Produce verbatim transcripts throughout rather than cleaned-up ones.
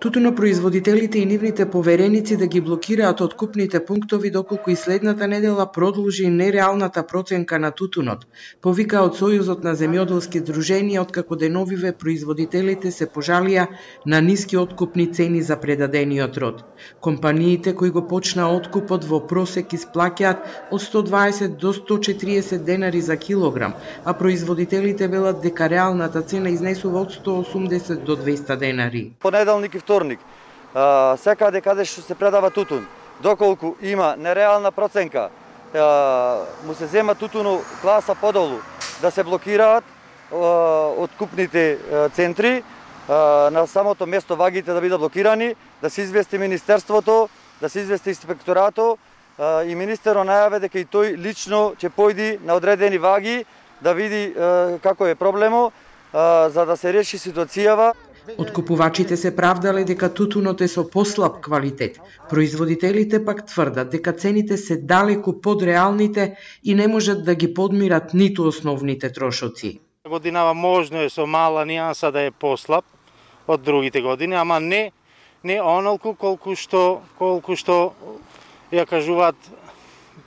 Тутунопроизводителите и нивните повереници да ги блокираат откупните пунктови доколку и следната недела продолжи нереалната проценка на тутунот, повика од Сојузот на земјоделски здруженија, откако деновиве производителите се пожалија на ниски откупни цени за предадениот род. Компаниите кои го почна откупот во просек исплаќаат од сто дваесет до сто четириесет денари за килограм, а производителите велат дека реалната цена изнесува од сто осумдесет до двеста денари. Понеделник и вторник, а, секаде каде што се предава тутун, доколку има нереална проценка, а, му се зема тутуно класа подолу, да се блокираат а, откупните а, центри, а, на самото место вагите да бидат блокирани, да се извести Министерството, да се извести Инспекторато, а, и министерот најаве дека и тој лично ќе појди на одредени ваги да види а, како е проблемо, а, за да се реши ситуацијава. Откупувачите се правдале дека тутунот е со послаб квалитет. Производителите пак тврдат дека цените се далеку под реалните и не можат да ги подмират ниту основните трошоци. Годинава можно е со мала нијанса да е послаб од другите години, ама не не онолку колку што колку што ја кажуваат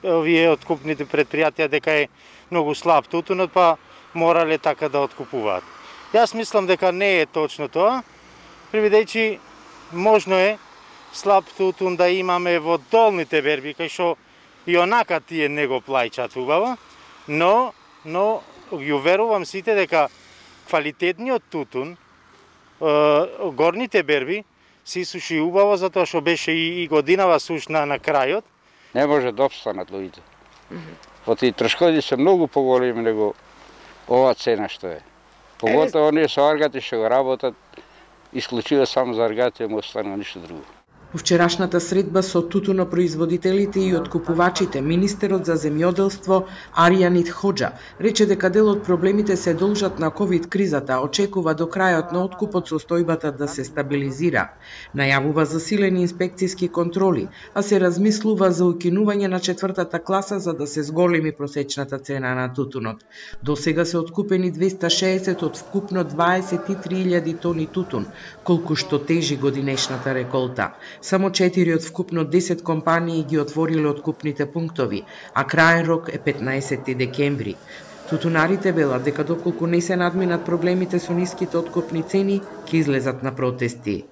овие откупните предпријатија дека е многу слаб тутунот, па морале така да откупуваат. Јас мислам дека не е точно тоа, привидејќи можно е слаб тутун да имаме во долните берби, кај што и онака тие не го плаќаат убаво, но, но ги уверувам сите дека квалитетниот тутун, горните берби, се суши убаво, затоа што беше и, и годинава сушна на крајот. Не може да обстанат луѓето. Поти трошковите се многу поголеми него ова цена што е. Поготово оние со аргати што го работат, исклучиво само за аргати, му останува ништо друго. Во вчерашната средба со тутунопроизводителите и откупувачите, министерот за земјоделство Аријанит Хоџа рече дека дел од проблемите се должат на ковид кризата, очекува до крајот на откупот состојбата да се стабилизира. Најавува засилени инспекцијски контроли, а се размислува за укинување на четвртата класа за да се зголеми просечната цена на тутунот. До сега се откупени двеста шеесет од вкупно дваесет и три илјади тони тутун, колку што тежи годинешната реколта. Само четири од вкупно десет компании ги отвориле откупните пунктови, а краен рок е петнаесети декември. Тутунарите велат дека доколку не се надминат проблемите со ниските откупни цени, ќе излезат на протести.